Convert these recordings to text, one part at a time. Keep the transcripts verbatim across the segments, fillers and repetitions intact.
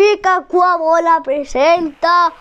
Benfica coa bola presenta.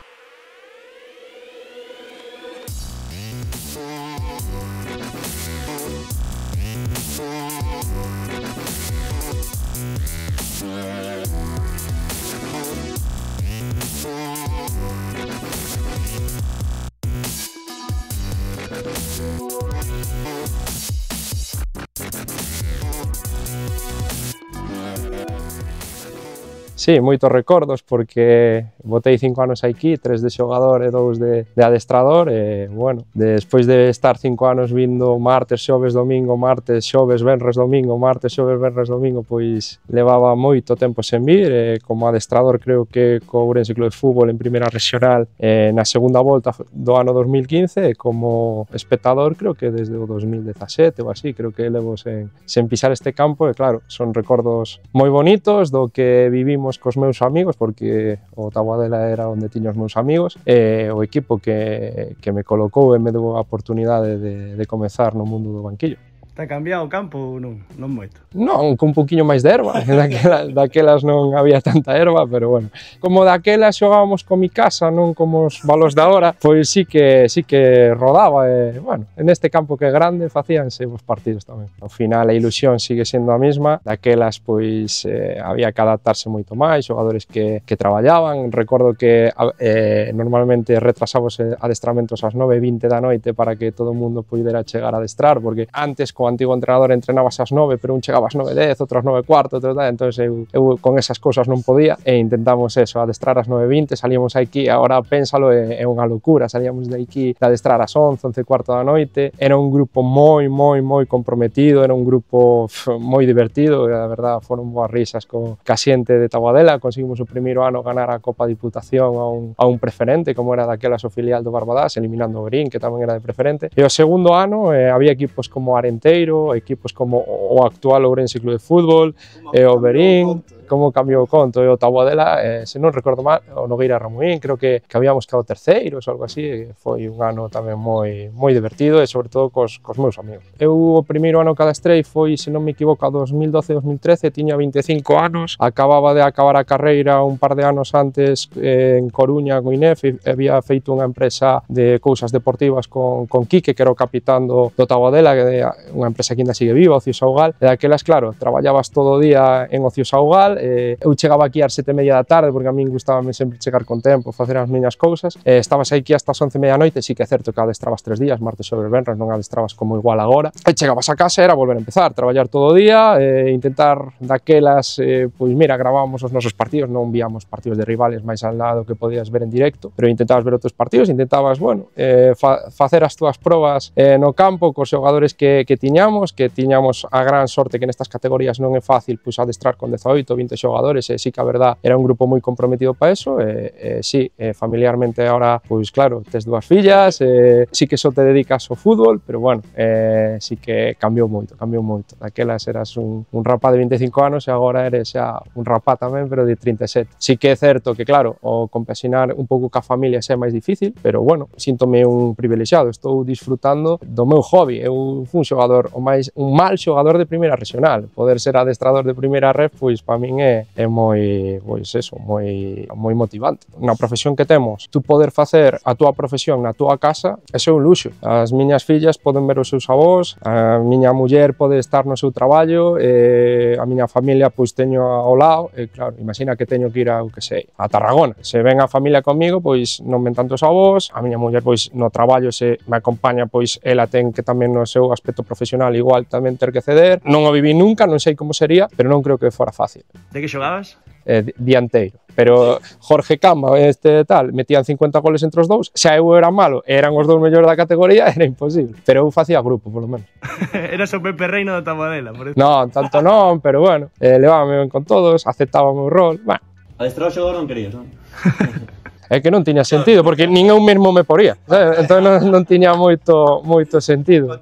Sí, moitos recordos porque botei cinco anos aquí, tres de xogador e dous de, de adestrador e, bueno, despois de estar cinco anos vindo martes, xoves, domingo, martes, xoves, venres, domingo, martes, xoves, venres, domingo, pois levaba moito tempo sen vir e como adestrador creo que co Ourense Club de Fútbol en primeira regional eh, na segunda volta do ano dos mil quince e como espectador creo que desde o dos mil dezasete ou así, creo que levo sen, sen pisar este campo e claro, son recordos moi bonitos do que vivimos cos meus amigos, porque o Taboadela era onde tiño os meus amigos, e o equipo que, que me colocou e me deu a oportunidade de, de comezar no mundo do banquillo. Está cambiado o campo ou non? Non moito? Non, con un poquinho máis de erva, daquelas, daquelas non había tanta erva, pero bueno, como daquelas xogábamos con mi casa, non como os balos da hora, pois sí que, sí que rodaba e, bueno, en este campo que é grande facíanse os partidos tamén. Ao final a ilusión sigue sendo a mesma, daquelas pois eh, había que adaptarse moito máis, xogadores que, que traballaban, recordo que eh, normalmente retrasamos adestramentos ás nove e vinte da noite para que todo o mundo pudera chegar a adestrar, porque antes co antigo entrenador entrenabas ás nove, pero un chegaba ás nove e dez, outro ás nove e cuarto, outro tal, entón eu, eu con esas cousas non podía e intentamos eso, adestrar ás nove e vinte, salíamos aquí, agora pénsalo, é, é unha locura, salíamos de aquí de adestrar ás once, once e cuarto da noite, era un grupo moi, moi, moi comprometido, era un grupo pff, moi divertido, e a verdad foron boas risas co ca xente de Taboadela, conseguimos o primeiro ano ganar a Copa Diputación a un, a un preferente, como era daquelas o filial do Barbadás, eliminando o Berín, que tamén era de preferente, e o segundo ano eh, había equipos como Arenteiro, equipos como o actual Ourense Club de Fútbol, e o Berín, como cambiou o conto, e o Taboadela, eh, se non recordo mal, o Nogueira Ramuín, creo que, que habíamos quedado terceiros ou algo así, e foi un ano tamén moi, moi divertido e sobre todo cos, cos meus amigos. Eu o primeiro ano que adestrei foi, se non me equivoco, a dos mil doce dos mil trece, tiña vinte e cinco anos, acababa de acabar a carreira un par de anos antes eh, en Coruña con Inef, e había feito unha empresa de cousas deportivas con, con Quique, que era o capitán do, do Taboadela, que é unha empresa que ainda sigue viva, Ocio Saugal, e daquelas, claro, traballabas todo o día en Ocio Saugal, eh, eu chegaba aquí ás sete e media da tarde, porque a min gustábame sempre chegar con tempo, facer as miñas cousas, eh, estabas aquí hasta as once e media da noite, sí que é certo que adestrabas tres días, martes sobre venres, non adestrabas como igual agora, e chegabas a casa e era volver a empezar, traballar todo o día, eh, intentar daquelas, eh, pois mira, gravábamos os nosos partidos, non víamos partidos de rivales máis al lado que podías ver en directo, pero intentabas ver outros partidos, intentabas, bueno, eh, fa facer as túas probas eh, no campo cos xogadores que, que tiñamos, que tiñamos a gran sorte que nestas categorías non é fácil pois, adestrar con dezaoito, vinte xogadores, e sí que a verdad era un grupo moi comprometido para eso, e, e sí, e familiarmente ahora, pois claro, tes dúas fillas, e, sí que só te dedicas ao fútbol, pero bueno, e, sí que cambiou moito, cambiou moito. Daquelas eras un, un rapá de vinte e cinco anos e agora eres xa un rapá tamén, pero de trinta e sete. Sí que é certo que, claro, o compaxinar un pouco ca familia xa é máis difícil, pero bueno, síntome un privilexiado, estou disfrutando do meu hobby, eu fui un xogador, o máis, un mal xogador de primeira regional, poder ser adestrador de primeira ref, pois para min é, é moi, pois eso, moi, moi motivante. Na profesión que temos, tú poder facer a túa profesión na túa casa, eso é un luxo. As miñas fillas poden ver os seus avós, a miña muller pode estar no seu traballo, e a miña familia pois teño ao lado, e claro, imagina que teño que ir a, o que sei, a Tarragona. Se ven a familia comigo, pois non ven tanto os avós, a miña muller pois no traballo se me acompaña, pois ela ten que tamén no seu aspecto profesional igual tamén ter que ceder. Non o viví nunca, non sei como sería, pero non creo que fora fácil. De que xogabas? Eh, dianteiro, pero Jorge Camba, este tal, metían cincuenta goles entre os dous, xa eu era malo, eran os dous mellores da categoría, era imposible, pero eu facía grupo, polo menos. Eras o Pepe Reino da Taboadela, por eso. Non, tanto non, pero bueno, eh, levábame ben con todos, aceptaba o meu rol, bueno. Adestrar o xogador non querías, non? é que non tiña sentido, porque nin eu mesmo me poría, sabes? Entón non, non tiña moito, moito sentido.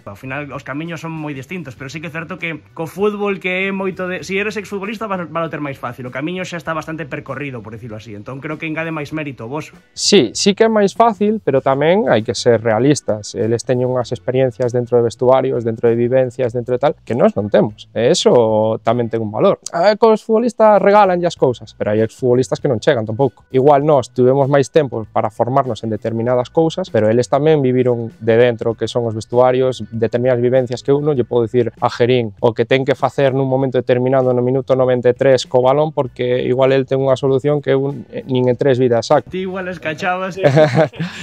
Ao final os camiños son moi distintos, pero sí que é certo que co fútbol que é moito de... Si eres exfutbolista vas a ter máis fácil, o camiño xa está bastante percorrido, por decirlo así, entón creo que engade máis mérito vos. Sí, sí que é máis fácil, pero tamén hai que ser realistas. Eles teñen unhas experiencias dentro de vestuarios, dentro de vivencias, dentro de tal, que nós non temos. E eso tamén ten un valor. A que os futbolistas regalan as cousas, pero hai exfutbolistas que non chegan tampouco. Igual nós tivemos máis tempo para formarnos en determinadas cousas, pero eles tamén viviron de dentro que son os vestuarios, determinadas vivencias que eu non lle podo dicir a Gerín o que ten que facer nun momento determinado no minuto noventa e tres co balón, porque igual el ten unha solución que eu nin en tres vidas saco. Ti igual escachabas.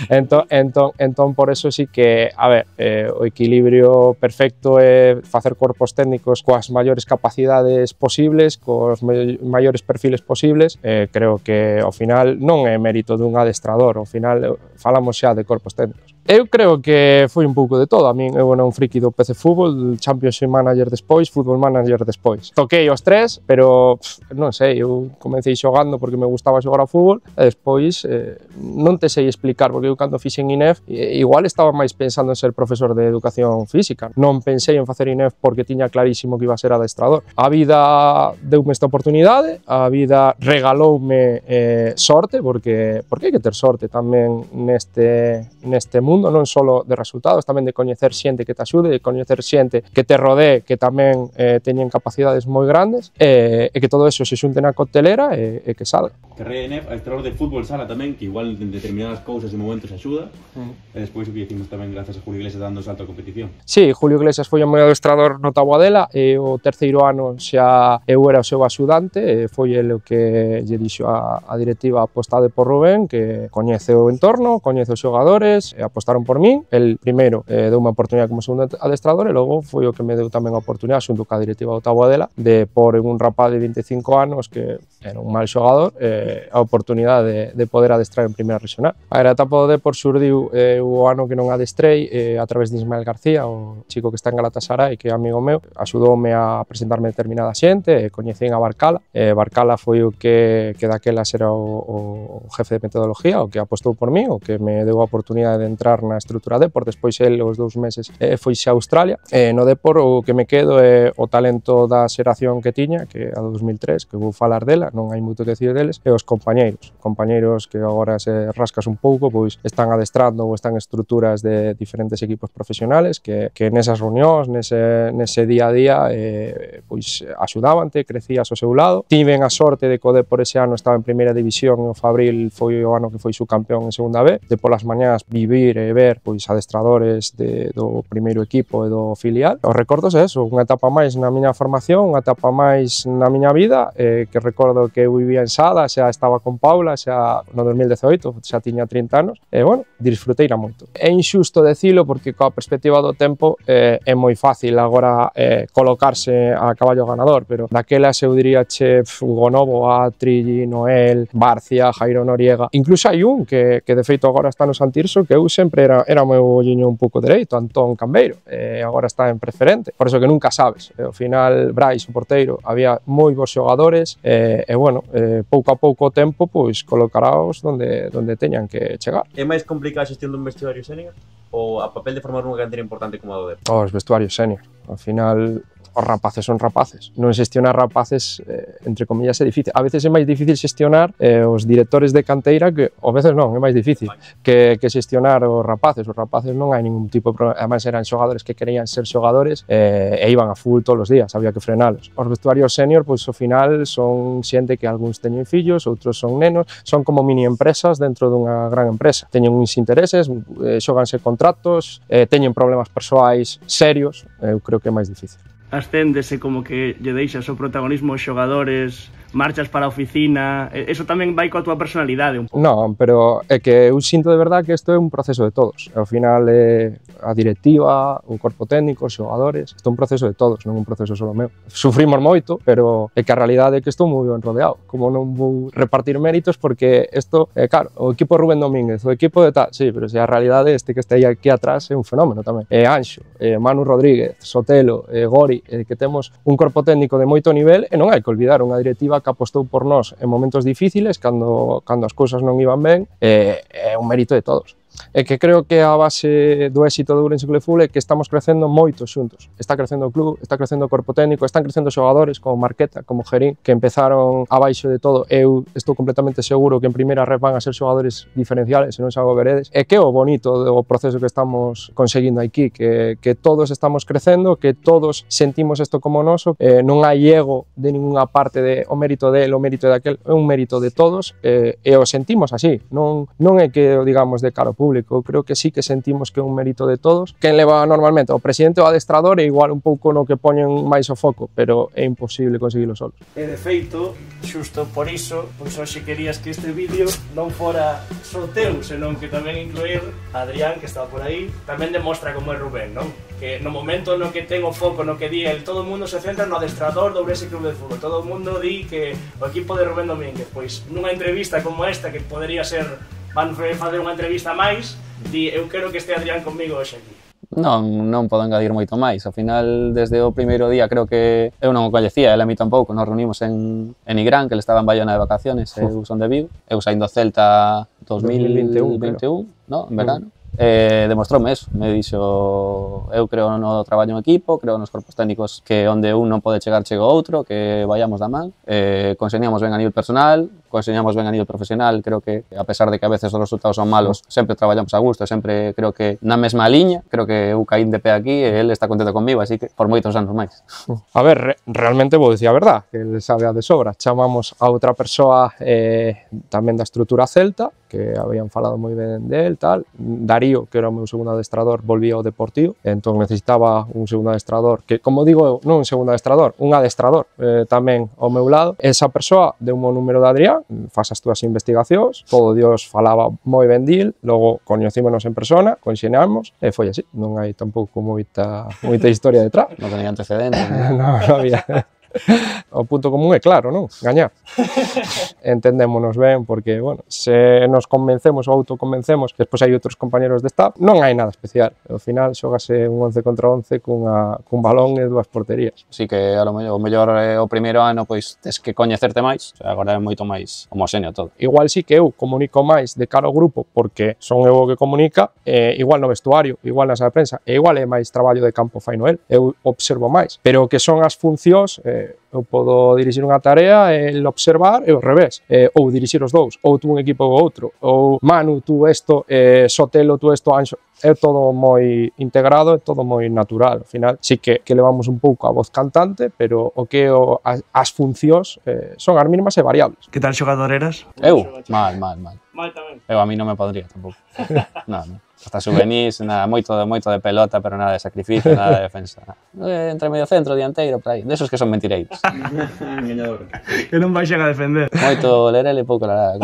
entón, entón, entón, por eso sí que, a ver, eh, o equilibrio perfecto é facer corpos técnicos coas maiores capacidades posibles, cos maiores perfiles posibles. Eh, creo que ao final non é mérito dun adestrador, ao final falamos xa de corpos técnicos. Eu creo que foi un pouco de todo. A min eu era un friki do P C Fútbol, Championship Manager despois, Football Manager despois. Toquei os tres, pero pff, non sei, eu comecei xogando porque me gustaba xogar ao fútbol e despois eh, non te sei explicar, porque eu cando fixen I N E F igual estaba máis pensando en ser profesor de educación física. Non pensei en facer I N E F porque tiña clarísimo que iba a ser adestrador. A vida deume esta oportunidade, a vida regaloume eh, sorte, porque, porque hai que ter sorte tamén neste, neste mundo. mundo, non só de resultados, tamén de coñecer xente que te axude, de coñecer xente que te rodee, que tamén eh, teñen capacidades moi grandes, e, e que todo eso se xunte na coctelera e, e que salga. Carreira de N E F, adestrador de fútbol sala tamén, que igual en determinadas cousas e momentos axuda, mm. e despois o que dicimos tamén grazas a Julio Iglesias dando salto a competición. Sí, Julio Iglesias foi o meu adestrador no Taboadela, e o terceiro ano xa eu era o seu axudante, e foi ele o que lle dixo a, a directiva apostade por Rubén, que coñece o entorno, coñece os xogadores, e apostaron por min. El primeiro eh, deu unha oportunidade como segundo adestrador, e logo foi o que me deu tamén a oportunidade xunto ca directiva do Taboadela de por en un rapaz de vinte e cinco anos que era un mal xogador eh, a oportunidade de, de poder adestrar en primeira regional. A etapa do Depor xurdiu eh, o ano que non adestrei eh, a través de Ismael García, o chico que está en Galatasaray, que é amigo meu, axudoume a presentarme determinada xente, e coñecín a Barcala. Eh, Barcala foi o que, que daquelas era o, o jefe de metodología, o que apostou por mí, o que me deu a oportunidade de entrar na estrutura Depor. Despois el, os dous meses, eh, foise a Australia. Eh, no Depor o que me quedo é o talento da xeración que tiña, que é a dos mil tres, que vou falar dela, non hai moito que decir deles, e os compañeiros. Compañeiros que agora se rascas un pouco, pois están adestrando ou están en estruturas de diferentes equipos profesionales que, que nesas reunións, nese, nese día a día, eh, pois axudávante, crecías ao seu lado. Tiven a sorte de que o Depor ese ano estaba en primeira división, e o Fabril foi o ano que foi subcampeón en segunda B, de polas mañás vivir e ver pois adestradores de, do primeiro equipo e do filial. Os recordos é eso, unha etapa máis na miña formación, unha etapa máis na miña vida, eh, que recordo que eu vivía en Sada, xa estaba con Paula, xa no dos mil dezoito, xa tiña trinta anos, e, bueno, disfruteira moito. É injusto decilo porque coa perspectiva do tempo eh, é moi fácil agora eh, colocarse a caballo ganador, pero daquelas eu diría che Hugo Novo, Atri, Noel, Barcia, Jairo Noriega, incluso hai un que, que de feito agora está no Santirso, que eu sempre era, era o meu olliño un pouco dereito, Antón Cambeiro, e agora está en preferente, por eso que nunca sabes. E, ao final, Brais, o porteiro, había moi bons xogadores, e, e bueno, e, pouco a pouco o tempo, pois, colocaráos donde, donde teñan que chegar. É máis complicada a xestión dun vestuario senior ou a papel de formar unha cantera importante como a do Depor? Os vestuarios senior, ao final os rapaces son rapaces. Non xestionar rapaces, eh, entre comillas, é difícil. A veces é máis difícil xestionar eh, os directores de canteira, que a veces non, é máis difícil que, que xestionar os rapaces. Os rapaces non hai ningún tipo de problema. Además eran xogadores que querían ser xogadores eh, e iban a full todos os días, había que frenalos. Os vestuarios senior, pois ao final son xente que algúns teñen fillos, outros son nenos, son como mini empresas dentro dunha gran empresa. Teñen uns intereses, eh, xoganse contratos, eh, teñen problemas persoais serios, eu creo que é máis difícil. Ascéndese como que lle deixas o protagonismo aos xogadores, marchas para a oficina, eso tamén vai coa túa personalidade. Non, pero é que eu sinto de verdade que isto é un proceso de todos. Ao final é a directiva, o corpo técnico, os xogadores, isto é un proceso de todos, non un proceso solo meu. Sufrimos moito, pero é que a realidade é que estou moi ben rodeado. Como non vou repartir méritos porque isto, é claro, o equipo Rubén Domínguez, o equipo de tal, sí, pero se a realidade este que está aí aquí atrás é un fenómeno tamén. É Anxo, é Manu Rodríguez, Sotelo, é Gori, é que temos un corpo técnico de moito nivel e non hai que olvidar unha directiva persoa que apostou por nós en momentos difíciles, cando, cando as cousas non iban ben, é, é un mérito de todos. E que creo que a base do éxito do Ourense Club de Fútbol é que estamos crecendo moito xuntos. Está crecendo o club, está crecendo o corpo técnico, están crecendo xogadores como Marqueta, como Gerín, que empezaron abaixo de todo. Eu estou completamente seguro que en primeira red van a ser xogadores diferenciales, se non xa o veredes. E que é o bonito do proceso que estamos conseguindo aquí, que, que todos estamos crecendo, que todos sentimos isto como noso, eh, non hai ego de ninguna parte de o mérito del, o mérito de aquel, é un mérito de todos, eh, e o sentimos así. Non, non é que o digamos de cara ao público, eu creo que sí que sentimos que é un mérito de todos. Quen leva normalmente o presidente ou o adestrador é igual un pouco no que poñen máis o foco, pero é imposible conseguilo solos. E de feito, xusto por iso, pois hoxe querías que este vídeo non fora só teu, senón que tamén incluir a Adrián, que está por aí, tamén demostra como é Rubén, non? Que no momento no que ten o foco, no que di el, todo o mundo se centra no adestrador do Ourense Club de Fútbol, todo o mundo di que o equipo de Rubén Domínguez, pois nunha entrevista como esta, que podería ser, van fazer unha entrevista máis, di, eu quero que este Adrián comigo hoxe aquí. Non, non podo engadir moito máis. Ao final, desde o primeiro día, creo que eu non o coñecía, ele a mí tampouco. Nos reunimos en, en Nigrán, que ele estaba en Bayona de vacaciones, eu son de Vigo. Eu saíndo Celta dos mil vinte e un, no? En verano. Mm. Eh, demostroume eso, me dixo, eu creo no traballo en equipo, creo nos corpos técnicos que onde un non pode chegar chega outro, que vayamos da man, eh, conseñamos ben a nivel personal, conseñamos ben a nivel profesional, creo que a pesar de que a veces os resultados son malos, sempre traballamos a gusto, sempre creo que na mesma liña, creo que eu caín de pé aquí e ele está contento comigo, así que por moitos anos máis. A ver, re realmente vou dicir a verdad, que ele sabe a de sobra. Chamamos a outra persoa eh, tamén da estrutura celta, que habían falado moi ben del, tal. Darío, que era o meu segundo adestrador, volvía ao Deportivo, entón necesitaba un segundo adestrador, que, como digo eu, non un segundo adestrador, un adestrador eh, tamén ao meu lado. Esa persoa deu o número de Adrián, faz as túas investigacións, todo Dios falaba moi ben dil, logo coñecímonos en persona, conxeneamos, e foi así, non hai tampouco moita, moita historia detrás. Non tenía antecedentes. non, non había. O punto común é claro, non? Gañar. Entendémonos ben porque, bueno, se nos convencemos ou autoconvencemos que despois hai outros compañeros de staff, non hai nada especial. Ao final xógase un once contra once cunha, cun balón e dúas porterías. Así que a lo mellor, o mellor eh, o primeiro ano pois tes que coñecerte máis, o sea, agora é moito máis homoxéneo todo. Igual sí que eu comunico máis de cara ao grupo porque son eu o que comunica, eh, igual no vestuario, igual na sala de prensa, e igual é máis traballo de campo fai Noel, eu observo máis, pero o que son as funcións, eh, eu podo dirixir unha tarea, el observar e ao revés, eh, ou dirixir os dous, ou tú un equipo ou outro, ou Manu, tú esto, eh, Sotelo, tú esto, Anxo, é todo moi integrado, é todo moi natural. Ao final, sí que, que levamos un pouco a voz cantante, pero o que o, as, as funcións eh, son as mínimas e variables. Que tal xogador eras? Eu? Mal, mal, mal. Mal tamén. Eu a mí non me podría tampouco. Non, non. Hasta juvenís, nada, moito, moito de pelota, pero nada de sacrificio, nada de defensa. Eh, entre medio centro, dianteiro, por aí. Desos que son mentireiros. Engañador. Que non baixan a defender. Moito lerele e pouco la,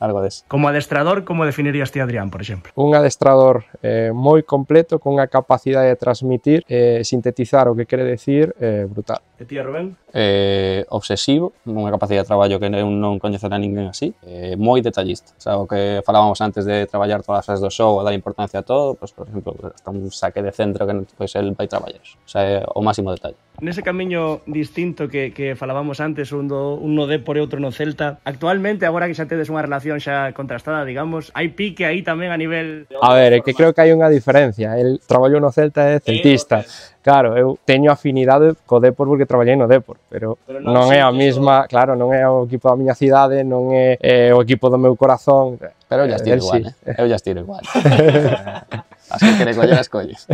algo deso. Como adestrador, como definirías ti Adrián, por exemplo? Un adestrador eh, moi completo, con unha capacidade de transmitir, eh, sintetizar o que quere decir, eh, brutal. E ti, Rubén? Eh, obsesivo, unha capacidade de traballo que non, non coñecerá ninguén así, eh, moi detallista. O sea, o que falábamos antes de traballar todas as fases do show, dar importancia a todo, pues, por exemplo, hasta un saque de centro que pues, el vai traballar. O sea, é o máximo detalle. Nese camiño distinto que, que falábamos antes, un, do, un no Depor e outro no Celta, actualmente, agora que xa tedes unha relación xa contrastada, digamos, hai pique aí tamén a nivel... A ver, é que creo que hai unha diferencia. El traballo no Celta é celtista. Claro, eu teño afinidade co Depor porque traballei no Depor, pero, pero non, non é a mesma, o... claro, non é o equipo da miña cidade, non é, é o equipo do meu corazón. Pero eu ya estiro igual, sí. eh? Eu ya estiro igual. As que quere coller as colles.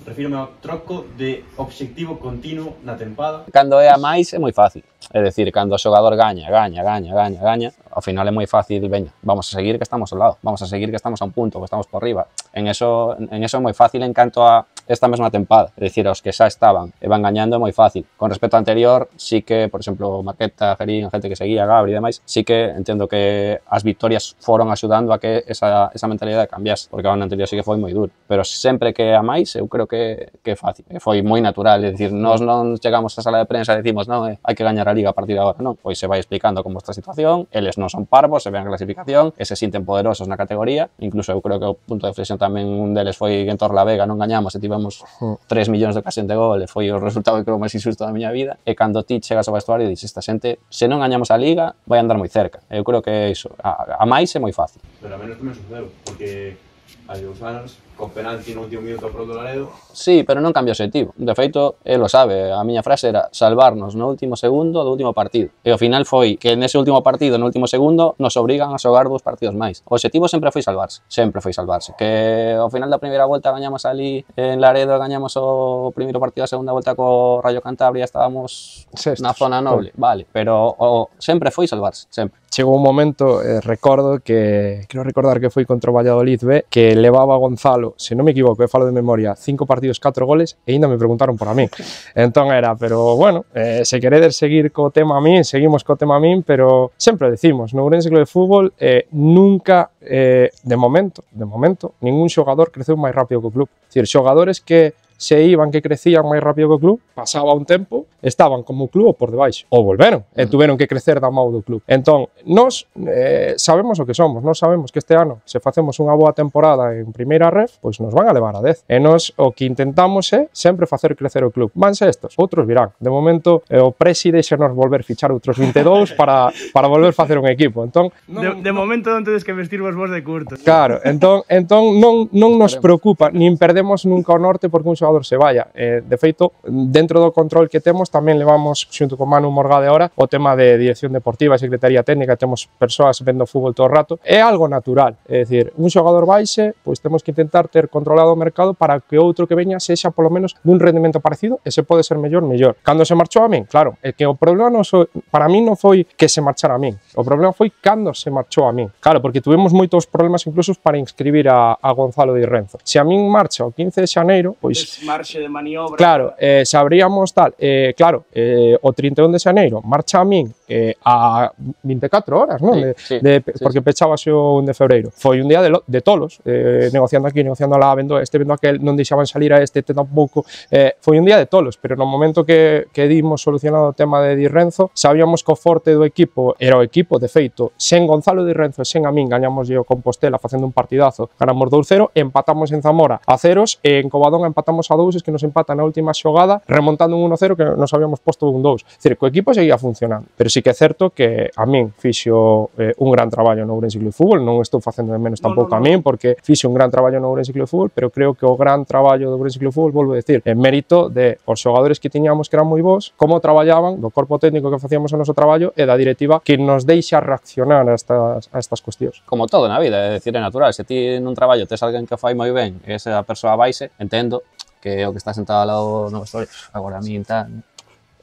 Refírome ao troco de obxectivo continuo na tempada. Cando é a máis é moi fácil. É dicir, cando o xogador gaña, gaña, gaña, gaña, gaña, ao final é moi fácil, veña, vamos a seguir que estamos ao lado, vamos a seguir que estamos a un punto, que estamos por riba. En eso, en eso é moi fácil en canto a esta mesma tempada, é dicir, os que xa estaban e van gañando é moi fácil. Con respecto ao anterior, sí que, por exemplo, Marqueta, Gerín, a gente que seguía, Gabri e demais, sí que entendo que as victorias foron axudando a que esa, esa mentalidade cambiase, porque ao anterior sí que foi moi duro. Pero sempre que a máis, eu creo que, que é fácil, foi moi natural, é dicir, nós non chegamos á sala de prensa e decimos, non, eh, hai que gañar a Liga a partir de agora, non, pois se vai explicando como está a situación, eles non son parvos, se ven a clasificación, e se sinten poderosos na categoría, incluso eu creo que o punto de flexión tamén un deles foi que en Torlavega non gañamos e tivemos tivemos tres millóns de ocasión de gol e foi o resultado que creo máis injusto da miña vida, e cando ti chegas ao vestuario e dices, esta xente, se non gañamos a Liga, vai andar moi cerca. Eu creo que iso, a, a máis é moi fácil. Pero a menos tamén sucedeu, porque hai dous anos, con penalti no último minuto pro do Laredo. Sí, pero non cambia o objetivo. De feito, ele lo sabe, a miña frase era salvarnos no último segundo do último partido. E ao final foi que nese último partido, no último segundo, nos obrigan a xogar dous partidos máis. O objetivo sempre foi salvarse, sempre foi salvarse. Que ao final da primeira volta gañamos ali en Laredo, gañamos o primeiro partido da segunda volta co Rayo Cantabria, estábamos Sextos, na zona noble, vale, pero o, sempre foi salvarse, sempre. Chegou un momento, eh, recordo que, creo recordar que foi contra o Valladolid B, que levaba Gonzalo, se non me equivoco, eu falo de memoria, cinco partidos, catro goles, e ainda me preguntaron por a min. Entón era, pero bueno, eh, se queredes seguir co tema a min, seguimos co tema a min, pero sempre decimos, no Ourense Club de Fútbol, eh, nunca, eh, de momento, de momento, ningún xogador creceu máis rápido que o club. É dicir, xogadores que se iban, que crecían máis rápido que o club, pasaba un tempo, estaban como o club ou por debaixo, ou volveron, e tuveron que crecer da mão do club. Entón, nós eh, sabemos o que somos, nós sabemos que este ano, se facemos unha boa temporada en primeira ref, pois nos van a levar a dez. E nós o que intentamos é sempre facer crecer o club. Vanse estos, outros virán. De momento, eh, o presi deixa nos volver fichar outros vinte e dous para, para volver facer un equipo. Entón, De, de momento non tedes que vestirvos vos de curto. claro, entón, entón non, non nos preocupa, nin perdemos nunca o norte porque un xogador se vaya. Eh, de feito, dentro do control que temos, tamén levamos, xunto con Manu Morgade ahora, o tema de dirección deportiva, secretaría técnica, temos persoas vendo fútbol todo o rato. É algo natural, é dicir, un xogador baixe, pois temos que intentar ter controlado o mercado para que outro que veña sexa polo menos dun rendimento parecido e se pode ser mellor, mellor. Cando se marchou a min, claro, é que o problema non so, para min non foi que se marchara a min, o problema foi cando se marchou a min. Claro, porque tuvemos moitos problemas incluso para inscribir a, a Gonzalo Di Renzo. Se a min marcha o quince de xaneiro, pois Marxe de maniobra. claro, eh, sabríamos tal, eh, claro, eh, o trinta e un de xaneiro marcha a min eh, a vinte e catro horas, non? Sí, De, sí, de, sí, porque sí. pechábase o un de febreiro. Foi un día de, lo, de tolos, eh, negociando aquí, negociando lá, vendo este, vendo aquel, non deixaban salir a este, este tampouco. Eh, foi un día de tolos, pero no momento que, que dimos solucionado o tema de Di Renzo, sabíamos que o forte do equipo era o equipo, de feito, sen Gonzalo Di Renzo e sen a min, gañamos o Compostela facendo un partidazo, ganamos dous cero, empatamos en Zamora a ceros, e en Covadonga empatamos a dous, es que nos empatan na última xogada, remontando un uno cero que nos habíamos posto un dous. É dicir, que o equipo seguía funcionando. Pero sí que é certo que a min fixo eh, un gran traballo no Ourense Club de Fútbol, non estou facendo de menos tampouco no, no. a min, porque fixo un gran traballo no Ourense Club de Fútbol, pero creo que o gran traballo do Ourense Club de Fútbol, volvo a decir, en mérito de os xogadores que tiñamos que eran moi bons, como traballaban, do corpo técnico que facíamos o noso traballo e da directiva que nos deixa reaccionar a estas, a estas cuestións. Como todo na vida, é dicir, é natural. Se ti nun traballo tes alguén que fai moi ben e esa persoa baixe, entendo que o que está sentado ao lado no vestuario, agora a min tal.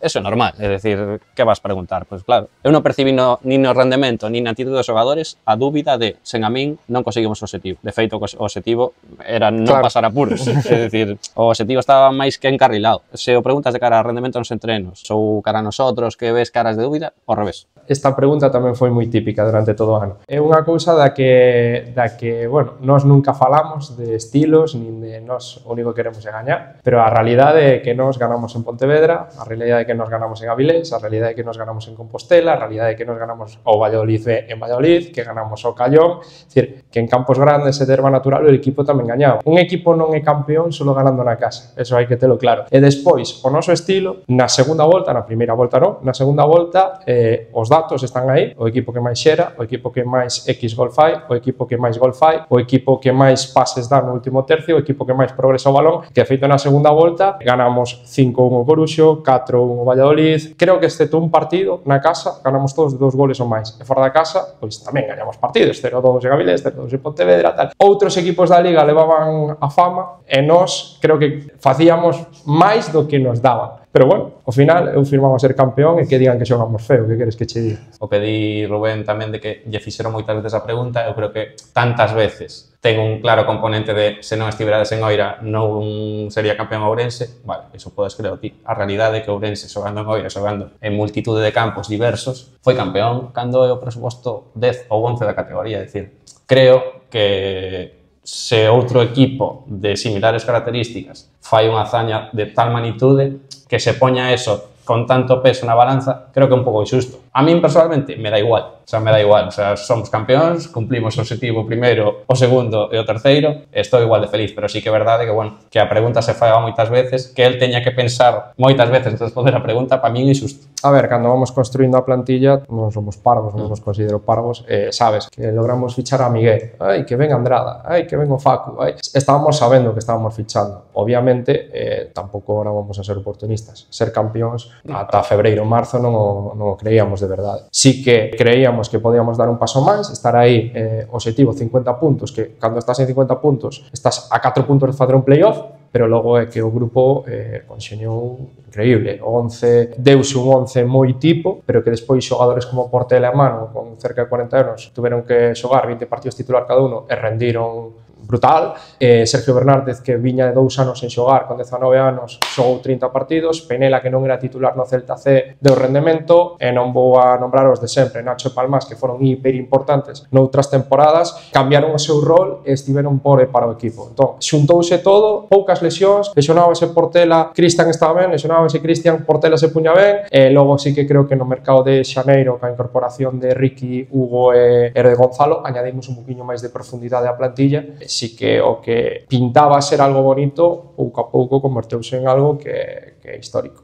Eso é normal, é dicir, que vas preguntar? Pois claro, eu non percibí no, nin no rendemento, nin na actitud dos xogadores a dúbida de, sen a min, non conseguimos o objetivo. De feito, o objetivo era non Claro. pasar apuros. É dicir, o objetivo estaba máis que encarrilado. Se o preguntas de cara a rendemento nos entrenos, ou cara a nosotros, que ves caras de dúbida, ao revés. Esta pregunta tamén foi moi típica durante todo o ano. É unha cousa da que, da que, bueno, nós nunca falamos de estilos, nin de nós o único que queremos é gañar, pero a realidade é que nós ganamos en Pontevedra, a realidade é que nos ganamos en Avilés, a realidade é que nos ganamos en Compostela, a realidade é que nos ganamos ao Valladolid B en Valladolid, que ganamos ao Callón, é dicir, que en campos grandes e de erva natural o equipo tamén gañaba. Un equipo non é campeón solo ganando na casa, eso hai que telo claro. E despois, o noso estilo, na segunda volta, na primeira volta non, na segunda volta, eh, os datos están aí, o equipo que máis xera, o equipo que máis X gol fai, o equipo que máis gol fai, o equipo que máis pases dá no último tercio, o equipo que máis progresa o balón, que feito na segunda volta, ganamos cinco un o Coruxo, catro un o Valladolid. Creo que excepto un partido na casa ganamos todos de dos goles ou máis. E fora da casa, pois tamén gañamos partidos, cero dous en Avilés, cero dous en Pontevedra, tal. Outros equipos da Liga levaban a fama e nós creo que facíamos máis do que nos daban. Pero bueno, ao final eu firmaba ser campeón e que digan que xogamos feo, que queres que che diga? O que di Rubén tamén de que lle fixeron moitas veces a pregunta, eu creo que tantas veces ten un claro componente de se non estiverades en Oira non sería campeón Ourense, vale, iso podes creer ti. A realidade é que Ourense xogando en Oira, xogando en multitude de campos diversos, foi campeón cando é o presuposto dez ou once da categoría, é dicir, creo que se outro equipo de similares características fai unha hazaña de tal magnitude que se poña eso con tanto peso na balanza, creo que é un pouco injusto. A min, personalmente, me da igual. O sea, me da igual. O sea, somos campeóns, cumplimos o objetivo primeiro, o segundo e o terceiro, estou igual de feliz, pero sí que é verdade que, bueno, que a pregunta se fai moitas veces, que el teña que pensar moitas veces antes de responder a pregunta, para min é injusto. A ver, cando vamos construindo a plantilla, non somos parvos, non nos considero parvos, eh, sabes, que logramos fichar a Miguel, ai, que ven Andrada, ai, que ven o Facu, ai. Estábamos sabendo que estábamos fichando. Obviamente, eh, tampouco ahora vamos a ser oportunistas. Ser campións ata febreiro, marzo non o, non o creíamos de verdade. Sí que creíamos que podíamos dar un paso máis, estar aí, eh, objetivo cincuenta puntos, que cando estás en cincuenta puntos, estás a catro puntos de facer un playoff, pero logo é que o grupo eh, conxeñou increíble. O once deuse un once moi tipo, pero que despois xogadores como Portela e Mano, con cerca de cuarenta anos, tuveron que xogar vinte partidos titular cada uno e rendiron brutal. Eh, Sergio Bernárdez, que viña de dous anos en xogar, con dezanove anos, xogou trinta partidos. Penela, que non era titular no Celta C, deu rendemento. E non vou a nombrar os de sempre, Nacho e Palmas, que foron hiper importantes noutras temporadas, cambiaron o seu rol e estiveron por e para o equipo. Entón, xuntouse todo, poucas lesións, lesionábase Portela, Cristian estaba ben, lesionábase Cristian, Portela se puña ben, e logo sí que creo que no mercado de xaneiro, ca incorporación de Ricky, Hugo e, e de Gonzalo, añadimos un poquinho máis de profundidade á plantilla. Sí que o que pintaba ser algo bonito, pouco a pouco converteuse en algo que, que é histórico.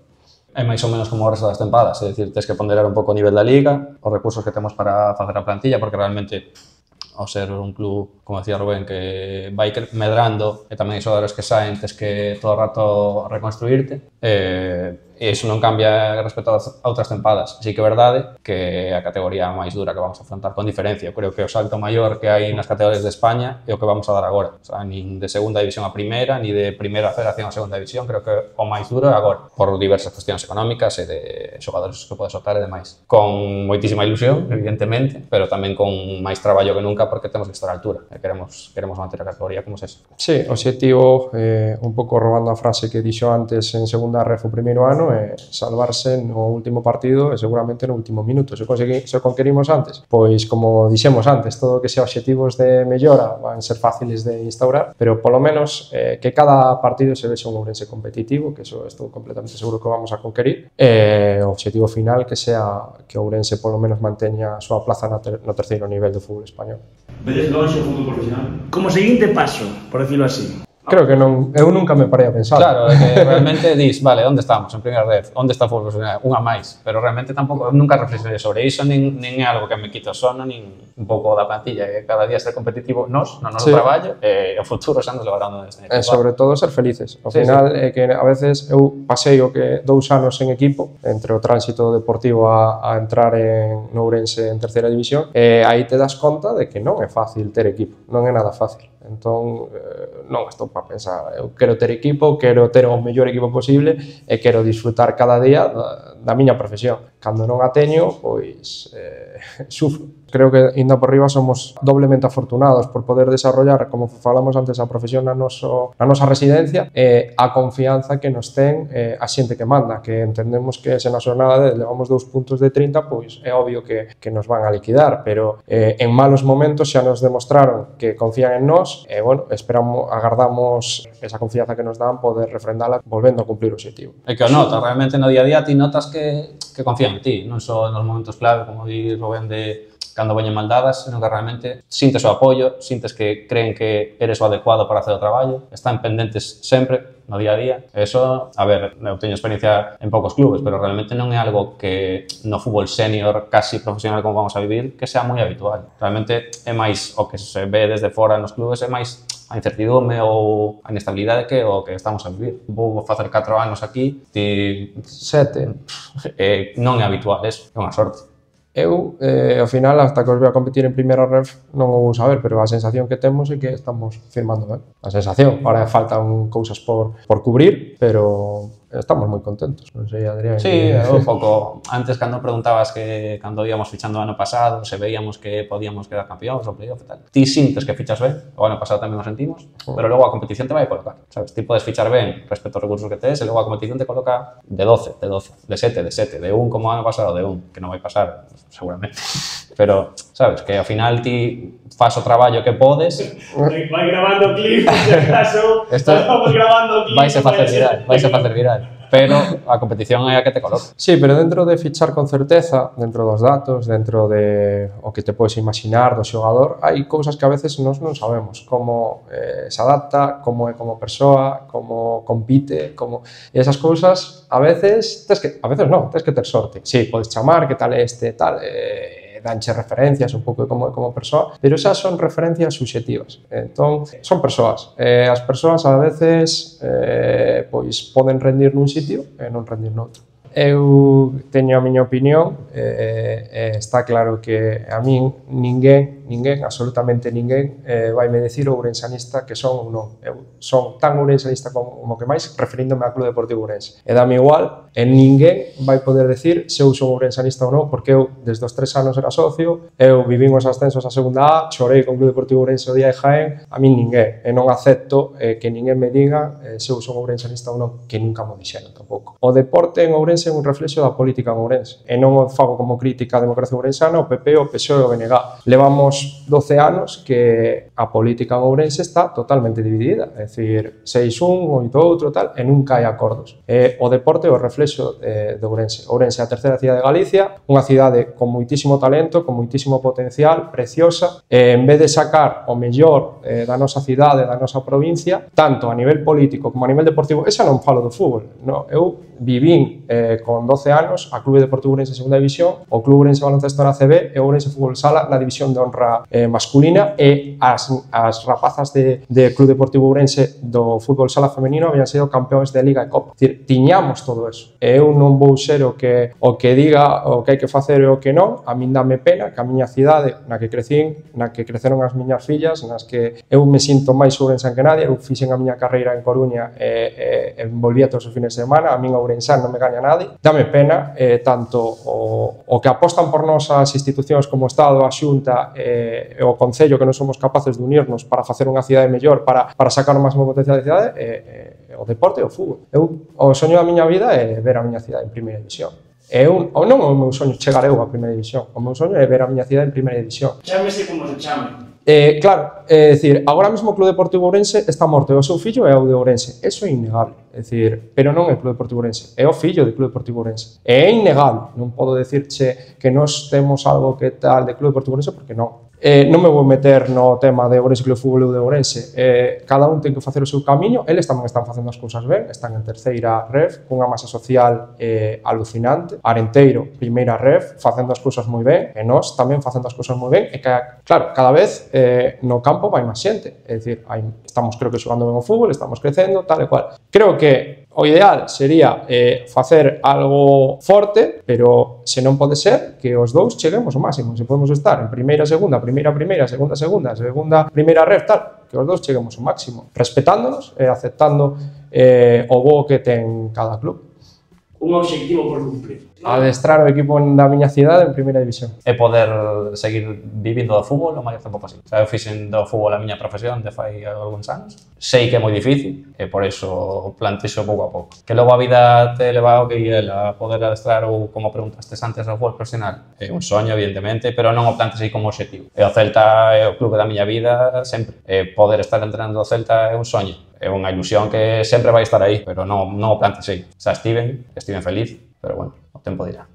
É máis ou menos como o resto das tempadas, é dicir, tens que ponderar un pouco o nivel da liga, os recursos que temos para facer a plantilla, porque realmente, ao ser un club, como decía Rubén, que vai medrando e tamén hai xogadores que saen, tens que todo o rato reconstruirte, e e iso non cambia respecto a outras tempadas. Así que é verdade que a categoría máis dura que vamos a afrontar con diferencia. Eu creo que o salto maior que hai nas categorías de España é o que vamos a dar agora. O sea, nin de segunda división a primeira, ni de primeira federación a segunda división, creo que o máis duro é agora, por diversas cuestións económicas e de xogadores que podes soltar e demais. Con moitísima ilusión, evidentemente, pero tamén con máis traballo que nunca, porque temos que estar á altura e queremos, queremos manter a categoría como se. Sí, o objetivo, eh, un pouco robando a frase que dixo antes en segunda ref o primeiro ano, é salvarse no último partido e seguramente no último minuto. Se, consegui, se conquerimos antes, pois como dixemos antes, todo o que sea obxectivos de mellora van ser fáciles de instaurar, pero polo menos eh, que cada partido se vexe un Ourense competitivo, que eso estou completamente seguro que vamos a conquerir, e o obxectivo final que sea que Ourense polo menos manteña a súa plaza no, ter, no terceiro nivel do fútbol español. Vedes longe o fútbol profesional? Como seguinte paso, por decirlo así. Creo que non, eu nunca me parei a pensar. Claro, é que realmente dis, vale, onde estamos? En primeira red, onde está o fútbol profesional? Unha máis, pero realmente tampouco, nunca reflexionei sobre iso, nin, nin é algo que me quita o sono, nin un pouco da plantilla, que cada día ser competitivo nos, no noso sí. traballo, e o futuro xa nos levarán neste. E sobre todo ser felices. Ao sí, final, sí. é que a veces eu pasei o que dous anos en equipo, entre o tránsito deportivo a, a entrar en Ourense en terceira división, e aí te das conta de que non é fácil ter equipo, non é nada fácil. Entón, eh, non estou para pensar, eu quero ter equipo, quero ter o mellor equipo posible e quero disfrutar cada día da, da miña profesión. Cando non a teño, pois eh, sufro. Creo que, ainda por riba, somos doblemente afortunados por poder desarrollar, como falamos antes, a profesión na, noso, na nosa residencia e a confianza que nos ten eh, a xente que manda, que entendemos que se na jornada de levamos dous puntos de trinta, pois é obvio que, que nos van a liquidar, pero eh, en malos momentos xa nos demostraron que confían en nós e, bueno, esperamos, agardamos esa confianza que nos dan poder refrendala volvendo a cumplir o objetivo. É que o notas, realmente no día a día ti notas que, que confían en ti, non só nos momentos clave, como di Rubén, de cando veñen maldadas, sino que realmente sintes o apoio, sintes que creen que eres o adecuado para hacer o traballo, están pendentes sempre no día a día. Eso, a ver, eu teño experiencia en poucos clubes, pero realmente non é algo que no fútbol senior casi profesional como vamos a vivir, que sea moi habitual. Realmente é máis o que se ve desde fora nos clubes, é máis a incertidumbre ou a inestabilidade que o que estamos a vivir. Vou facer catro anos aquí, ti Sete. Eh, non é habitual, eso, é unha sorte. Eu, eh, ao final, hasta que os vea competir en primeira ref, non o vou saber, pero a sensación que temos é que estamos firmando ben. A sensación, ahora faltan cousas por, por cubrir, pero estamos moi contentos. Non sei, Adrián. Sí, que... un pouco. Antes, cando preguntabas que cando íamos fichando o ano pasado, se veíamos que podíamos quedar campeóns ou playoff e tal. Ti sintes que fichas ben, o ano pasado tamén o sentimos, pero logo a competición te vai a colocar, sabes? Ti podes fichar ben respecto aos recursos que tes, e logo a competición te coloca de doce, de doce, de sete, de sete, de un como o ano pasado, de un, que non vai pasar, seguramente. pero, sabes, que ao final ti fas o traballo que podes. Vai grabando clip, se acaso, Esto vamos grabando clip. vais a facer viral, vais a facer viral. Pero a competición é a que te coloca. Sí, pero dentro de fichar con certeza, dentro dos datos, dentro de o que te podes imaginar do xogador, hai cousas que a veces nós non sabemos, como eh, se adapta, como é como persoa, como compite, como... E esas cousas, a veces, tes que, a veces non, tes que ter sorte. Sí, podes chamar, que tal é este, tal... Eh, danche referencias un pouco como como persoa, pero esas son referencias subxectivas. Entón, son persoas. Eh, as persoas a veces eh, pois poden rendir nun sitio e non rendir noutro. Eu teño a miña opinión, eh, eh, está claro que a min ninguén, ninguén, absolutamente ninguén, eh, vai me decir o ourensanista que son ou non. Eu son tan ourensanista como, como que máis, referíndome ao Club Deportivo Ourense. E dame igual, e ninguén vai poder decir se eu son ourensanista ou non, porque eu, desde os tres anos era socio, eu vivín os ascensos a segunda A, chorei con o Club Deportivo Ourense o día de Jaén, a min ninguén, e non acepto eh, que ninguén me diga eh, se eu son ourensanista ou non, que nunca mo dixeron tampouco. O deporte en Ourense é un reflexo da política en Ourense, e non o fago como crítica á democracia ourensana, o P P, o P S O E e o B N G. Levamos doce anos que a política en Ourense está totalmente dividida, é dicir, seis un, oito outro, tal, e nunca hai acordos. E o deporte é o reflexo eh, de Ourense. Ourense é a terceira cidade de Galicia, unha cidade con moitísimo talento, con moitísimo potencial, preciosa, e en vez de sacar o mellor eh, da nosa cidade, da nosa provincia, tanto a nivel político como a nivel deportivo, esa non falo do fútbol, no, eu vivín eh, con doce anos a Clube Deportivo Ourense segunda división, o Club Ourense Baloncesto na C B e o Ourense Fútbol Sala na división de honra eh, masculina, e as, as rapazas de, de Club Deportivo Ourense do Fútbol Sala femenino habían sido campeóns de Liga e Copa. É dicir, tiñamos todo eso. E eu non vou ser o que, o que diga o que hai que facer e o que non. A min dame pena que a miña cidade na que crecín, na que creceron as miñas fillas, nas que eu me sinto máis ourensan que nadie, eu fixen a miña carreira en Coruña e, e, e volvía todos os fines de semana, a min ourensán non me gaña nadie. Dame pena eh, tanto o, o que apostan por nós as institucións como o Estado, a Xunta e, e o Concello, que non somos capaces de unirnos para facer unha cidade mellor, para, para sacar o máximo potencial da cidade, e, e, o deporte e o fútbol. Eu, o soño da miña vida é ver a miña cidade en primeira división. É un, ou non o meu soño chegar eu a primeira división, o meu soño é ver a miña cidade en primeira división. Chámese como se chame. Eh, claro, é dicir, agora mesmo o Club Deportivo Ourense está morto, e o seu fillo é o de Ourense, eso é innegable, é dicir, pero non é o Club Deportivo Ourense, é o fillo do Club Deportivo Ourense, é innegable, non podo decirche que nós temos algo que tal de Club Deportivo Ourense, porque non. Eh, non me vou meter no tema de Ourense Club de Fútbol ou de Ourense, eh, cada un ten que facer o seu camiño, eles tamén están facendo as cousas ben, están en terceira ref, cunha masa social eh, alucinante, Arenteiro, primeira ref, facendo as cousas moi ben, e nós tamén facendo as cousas moi ben, e que, claro, cada vez eh, no campo vai máis xente, é dicir, hai, estamos creo que xogando ben o fútbol, estamos crecendo, tal e cual. Creo que o ideal sería eh, facer algo forte, pero se non pode ser que os dous cheguemos ao máximo, se podemos estar en primeira, segunda, primeira, primeira, segunda, segunda, segunda, primeira ref, tal, que os dous cheguemos ao máximo, respetándonos e aceptando eh, o bo que ten cada club. Un obxectivo por cumplir. Adestrar o equipo da miña cidade en primeira división. E poder seguir vivindo do fútbol o maior tempo posible. O sea, eu fixen do fútbol a miña profesión de fai algúns anos. Sei que é moi difícil e por eso plantexo pouco a pouco. Que logo a vida te leva ao que ela a poder adestrar ou, como preguntastes antes, ao fútbol profesional. É un soño, evidentemente, pero non o plantes aí como objetivo. E o Celta é o clube da miña vida sempre. E poder estar entrenando o Celta é un soño. É unha ilusión que sempre vai estar aí, pero non, non o plantes aí. Xa estiven, estiven feliz, pero bueno, o tempo dirá.